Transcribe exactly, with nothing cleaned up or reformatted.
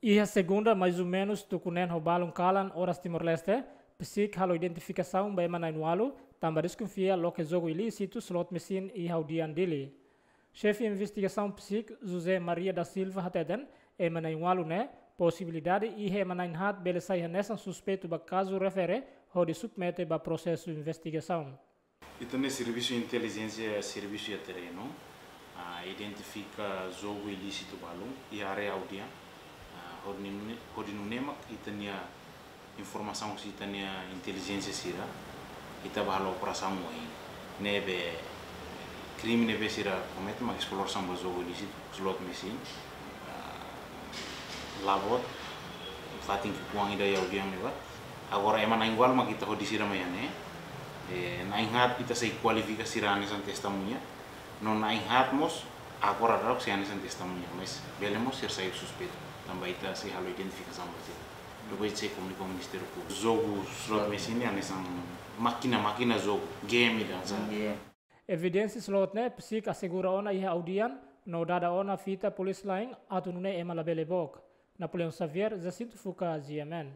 Iha segunda, mais ou menus tuku neen ho balun kalan oras Timor-Leste, PCIC halo identifikasaun ba ema na'in-ualu, tanba deskonfia loke jogu ilísitu slot machine iha Audian Dili. Xefe investigasaun PCIC, José Maria da Silva hateten, ema na'in-ualu ne'e, posibilidade iha ema na'in-haat bele sai hanesan suspeitu ba kazu refere hodi submete ba prosesu investigasaun. Ita-nia servisu intelijénsia servisu iha terrenu, ah, identifika jogu ilísitu balun iha área Audian, ah, hodi nune'e, hodi nune'e mak ita-nia informasaun husi ita-nia intelijénsia sira, ita bá halo operasaun ohin. Ne'ebé krime ne'ebé sira komete mak esplorasaun ba jogu ilísitu, slot machine, ah, la boot, fatin ki'ikoan ida iha Audian ne'ebá. Agora ema na'in-ualu mak ita hodi sira mai iha ne'e. Eh, na'in-haat ita sei kualifika sira hanesan testemuña. No na'in-haat mós agora daudaun sei hanesan testemuña, mas bele mós sira sai suspeitu. Tanba ita sei halo identifikasaun ba sira. Depois sei komunika ho Ministériu Públiku. Jogu slot machine hanesan mákina, mákina jogu, game ida hanesan. Evidénsia slot ne'e PCIC asegura ona iha Audian, no dada ona fita polísia la'en atu nune'e ema labele book. Napoleão Xavier, Jacinto Fuca, GMN.